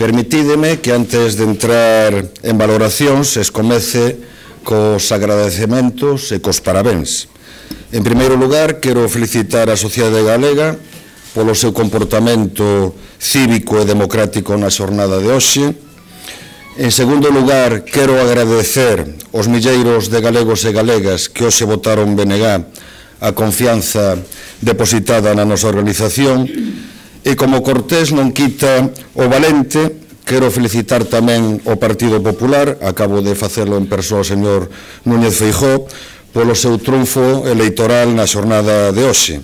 Permitídeme que antes de entrar en valoracións escomece cos agradecementos e cos parabéns. En primeiro lugar, quero felicitar a sociedade galega polo seu comportamento cívico e democrático na xornada de hoxe. En segundo lugar, quero agradecer aos milleiros de galegos e galegas que hoxe votaron BNG a confianza depositada na nosa organización. E como cortés non quita o valente, quero felicitar tamén o Partido Popular, acabo de facelo en persoa o señor Núñez Feijóo, polo seu triunfo electoral na xornada de hoxe.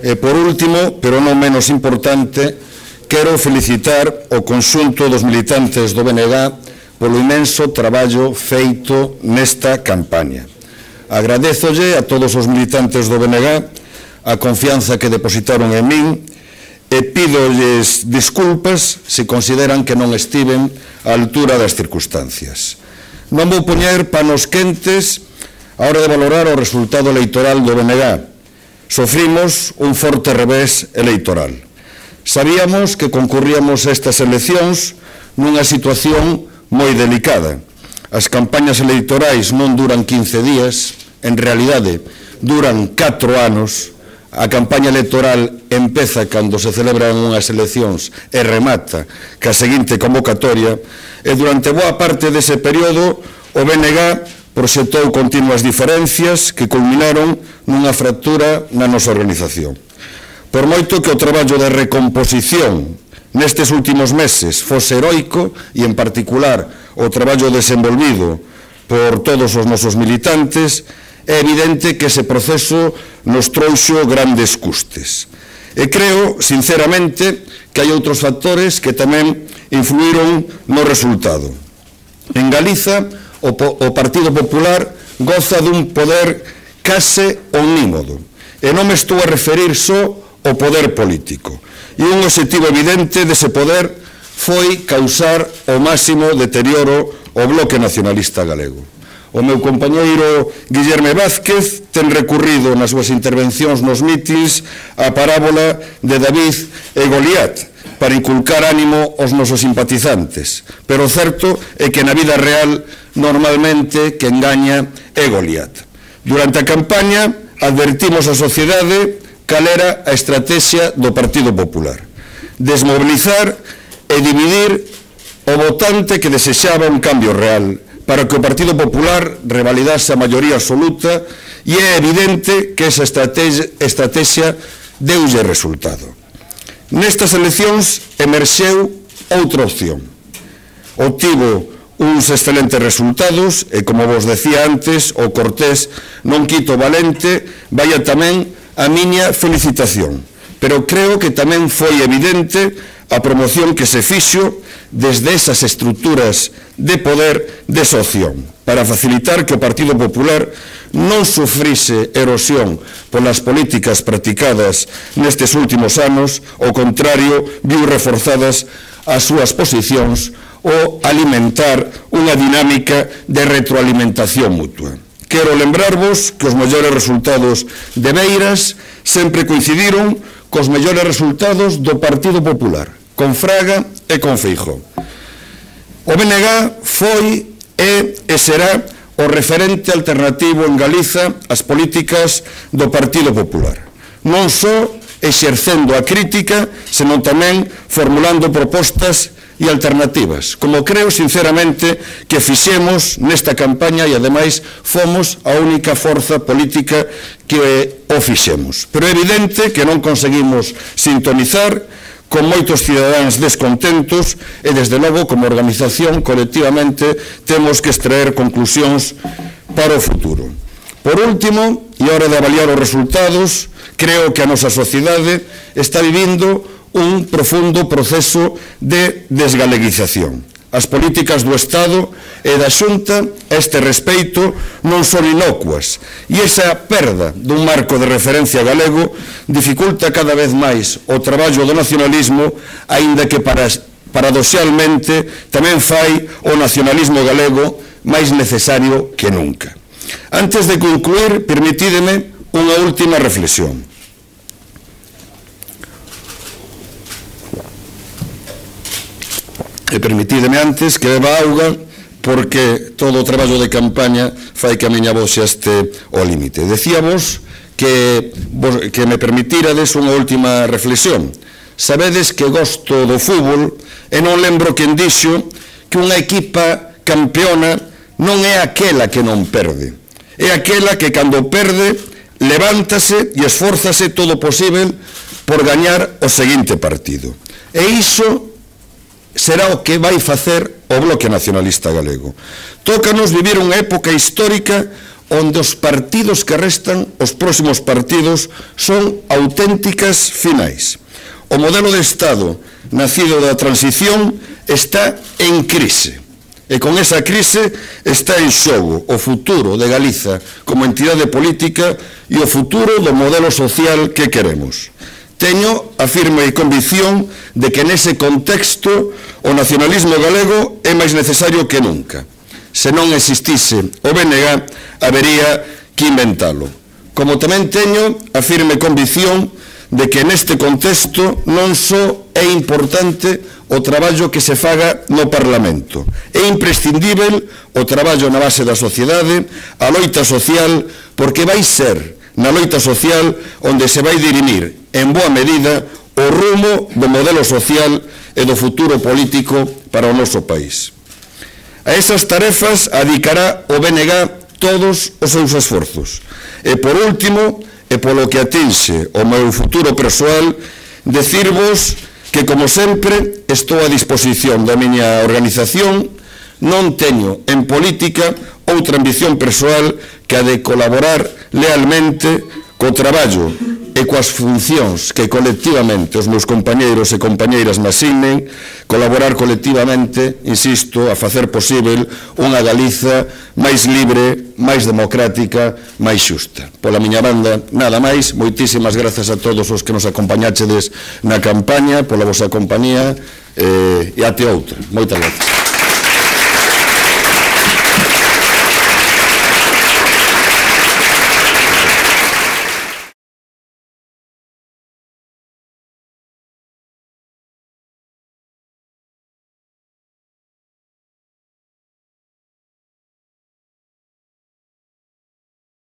E por último, pero non menos importante, quero felicitar o conxunto dos militantes do BNG polo imenso traballo feito nesta campaña. Agradézolle a todos os militantes do BNG a confianza que depositaron en min e pídolles disculpas se consideran que non estiven á altura das circunstancias. Non vou poñer panos quentes a hora de valorar o resultado electoral do BNG. Sofrimos un forte revés electoral. Sabíamos que concurríamos a estas eleccións nunha situación moi delicada. As campañas electorais non duran 15 días, en realidade duran 4 anos. A campaña electoral empeza cando se celebran unhas eleccións e remata ca seguinte convocatoria, e durante boa parte dese período o BNG proxectou continuas diferencias que culminaron nunha fractura na nosa organización. Por moito que o traballo de recomposición nestes últimos meses fose heroico, e en particular o traballo desenvolvido por todos os nosos militantes, é evidente que ese proceso nos trouxo grandes custes. E creo, sinceramente, que hai outros factores que tamén influíron no resultado. En Galiza, o Partido Popular goza dun poder case omnímodo. E non me estou a referir só ao poder político. E un obxectivo evidente dese poder foi causar o máximo deterioro ao bloque nacionalista galego. O meu compañeiro Guillerme Vázquez ten recurrido nas súas intervencións nos mítins a parábola de David e Goliat para inculcar ánimo aos nosos simpatizantes, pero o certo é que na vida real normalmente quen gaña é Goliat. Durante a campaña advertimos a sociedade cal era a estrategia do Partido Popular: desmobilizar e dividir o votante que desexaba un cambio real, para que o Partido Popular revalidase a maioría absoluta, e é evidente que esa estrategia deulle resultado. Nestas eleccións emerxeu outra opción. Obtivo uns excelentes resultados e, como vos decía antes, o cortés non quito valente, vaya tamén a miña felicitación. Pero creo que tamén foi evidente a promoción que se fixo desde esas estruturas de poder desa opción, para facilitar que o Partido Popular non sufrise erosión polas políticas practicadas nestes últimos anos, ao contrario, viu reforzadas as súas posicións ou alimentar unha dinámica de retroalimentación mutua. Quero lembrarvos que os mellores resultados de Beiras sempre coincidiron cos mellores resultados do Partido Popular, con Fraga e con Feijóo. O BNG foi e será o referente alternativo en Galiza ás políticas do Partido Popular, non só exercendo a crítica, senón tamén formulando propostas e alternativas, como creo sinceramente que fixemos nesta campaña, e ademais fomos a única forza política que o fixemos. Pero é evidente que non conseguimos sintonizar con moitos cidadáns descontentos e, desde logo, como organización, colectivamente, temos que extraer conclusións para o futuro. Por último, e a hora de avaliar os resultados, creo que a nosa sociedade está vivindo un profundo proceso de desgaleguización. As políticas do Estado e da Xunta a este respeito non son inocuas, e esa perda dun marco de referencia galego dificulta cada vez máis o traballo do nacionalismo, aínda que paradoxalmente tamén fai o nacionalismo galego máis necesario que nunca. Antes de concluir, permitídeme unha última reflexión. permitideme antes que beba auga, porque todo o traballo de campaña fai que a miña voz xa este ao límite. Decíavos que me permitirades unha última reflexión. Sabedes que gosto do fútbol e non lembro quen dixo que unha equipa campeona non é aquela que non perde, é aquela que cando perde levántase e esfórzase todo o posible por gañar o seguinte partido. E iso será o que vai facer o Bloque Nacionalista Galego. Tócanos vivir unha época histórica onde os partidos que restan, os próximos partidos, son auténticas finais. O modelo de Estado nacido da transición está en crise. E con esa crise está en xogo o futuro de Galiza como entidade política e o futuro do modelo social que queremos. Teño a firme convicción de que nese contexto o nacionalismo galego é máis necesario que nunca. Se non existise o BNG, habería que inventalo. Como tamén teño a firme convicción de que neste contexto non só é importante o traballo que se faga no Parlamento. É imprescindível o traballo na base da sociedade, a loita social, porque vai ser na loita social onde se vai dirimir en boa medida o rumo do modelo social e do futuro político para o noso país. A esas tarefas adicará o BNG todos os seus esforzos. E por último, e polo que atinxe o meu futuro persoal, decirvos que, como sempre, estou a disposición da miña organización. Non teño en política outra ambición persoal que a de colaborar lealmente co traballo e coas funcións que colectivamente os meus compañeiros e compañeiras me asignen, colaborar colectivamente, insisto, a facer posible unha Galiza máis libre, máis democrática, máis xusta. Pola miña banda, nada máis, moitísimas grazas a todos os que nos acompañáchedes na campaña, pola vosa compañía, e até outra. Moitas grazas.